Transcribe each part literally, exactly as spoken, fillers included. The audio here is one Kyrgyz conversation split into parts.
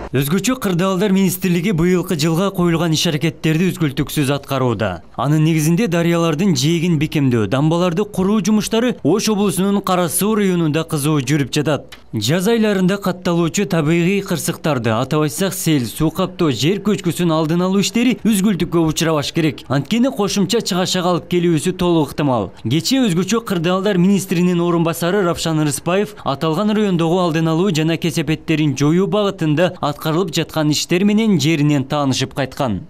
Өзгөчө кырдаалдар министрлиги быйылкы жылга коюлган иш-аракеттерди үзгүлтүксүз аткарууда. Анын негизинде дарыялардын жээгин бекемдөө, дамбаларды куруу жумуштары Ош облусунун Кара Суу районунда кызуу жүрүп жатат. Жаз айларында катталуучу табигый кырсыктарды, атап айтсак сел, суу каптоо, жер көчкүсүн алдын алуу иштери үзгүлтүккө учурабаш керек. Анткени кошумча чыгашага алып келүүсү толук ыктымал. Кечээ өзгөчө кырдаалдар министринин орун басары Равшан Рыспаев аталган райондогу алдын алуу жана кесепеттерин жоюу багытында аткарылып жаткан иштер менен жеринен таанышып кайткан.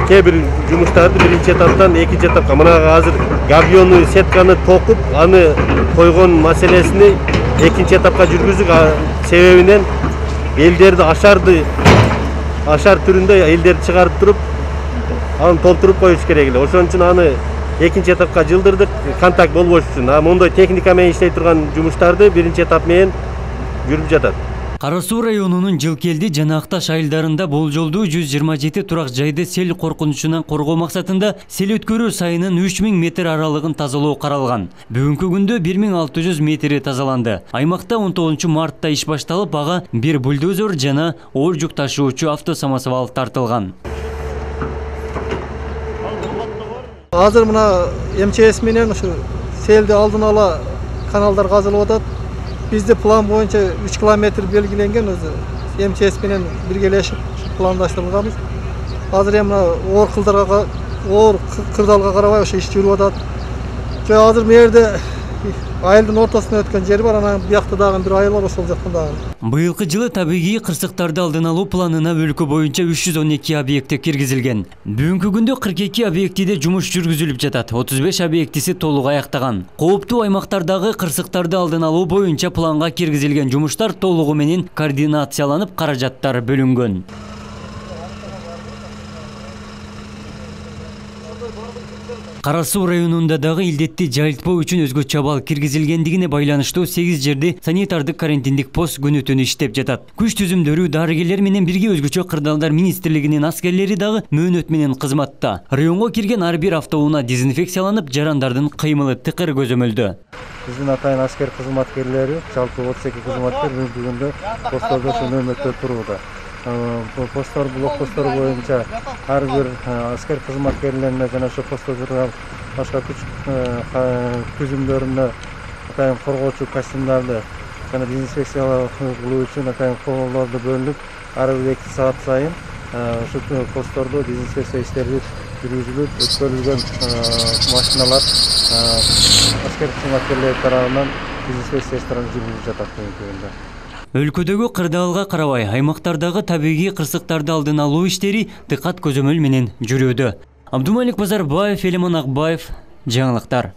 Кээ бир жумуштарды биринчи этаптан экинчи этапка, мына азыр габиону сетканы токуп, аны койгон маселесини экинчи этапка жүргүздүк. Себебинен элдерди ашарды ашар түрүндө элдерди чыгарып туруп, аны толтуруп коюш керек эле. Ошон үчүн аны экинчи этапка жылдырдык, контакт болбош үчүн. А мондой техника менен иштей турган жумуштарды биринчи этап менен жүрүп жатат. Кара Суу районунун Жылкелди жана Акташ айылдарында болжолдуу жүз жыйырма жети турак жайды сел коркунучунан коргоо максатында сел өткөрүү сайынын үч миң метр аралыгын тазалоо каралган. Бүгүнкү күндө бир миң алты жүз метри тазаланды. Аймакта он тогузунчу мартта иш башталып, ага бир бульдозер жана оор жүк ташуучу автосамосвал тартылган. Азыр мына эм че эс менен ушу селди алдын ала каналдар казылып атат. Бизде план боюнча үч километр белгиленген, өзү эм че эс менен биргелешип пландаштырылганбыз. Азыр эми мына оор кылдарга, оор кырдаалга карабай ошо иш жүрүп атат. Жо азыр мерде айылдын ортосунан өткөн жер бар, анан биякта дагы бир айыл бар, ошол жактан дагы. Быйылкы жылы табигый кырсыктарды алдын алуу планына өлкө боюнча үч жүз он эки объекти киргизилген. Бүгүнкү күндө кырк эки объектиде жумуш жүргүзүлүп жатат. отуз беш объектиси толук аяктаган. Кооптуу аймактардагы кырсыктарды алдын алуу боюнча планга киргизилген жумуштар толугу менен координацияланып, каражаттар бөлүнгөн. Кара Суу районунда дагы илдетти жайылтпоо үчүн өзгөчө абал киргизилгендигине байланыштуу сегиз жерде санитардык карантиндик пост күнү түнү иштеп жатат. Күч түзүмдөрү дарыгерлер менен бирге өзгөчө кырдаалдар министрлигинин аскерлери дагы мөөнөт менен кызматта. Районго кирген ар бир автоунаа дезинфекцияланып, жарандардын кыймылы тыкыр көзөмөлдө. Биздин атайын аскер кызматкерлери, жалпы отуз эки кызматкер бүгүнкү күндө посттордо ошо нөөмөттө турууда. Посттор, блокпосттор боюнча ар бир аскер кызматкерлерине жана ошо постто турган башка күч түзүмдөрүнө атайын коргоочу костюмдарды жана дезинфекциялоо кылуу үчүн атайын колоолорду бөлүнүп, ар бир эки саат сайын ошол посттордо дезинфекция иштери жүргүзүлүп, өткөрүлгөн машиналар аскер кызматкерлери тарабынан дезинфекция иштери жүргүзүлүп жатат бүгүнкү күндө. Өлкөдөгү кырдаалга карабай, аймактардагы табигый кырсыктарды алдын алуу иштери дыкат көзөмөл менен жүрүүдө. Абдумалик Базарбаев, Элемон Акбаев, жаңылыктар.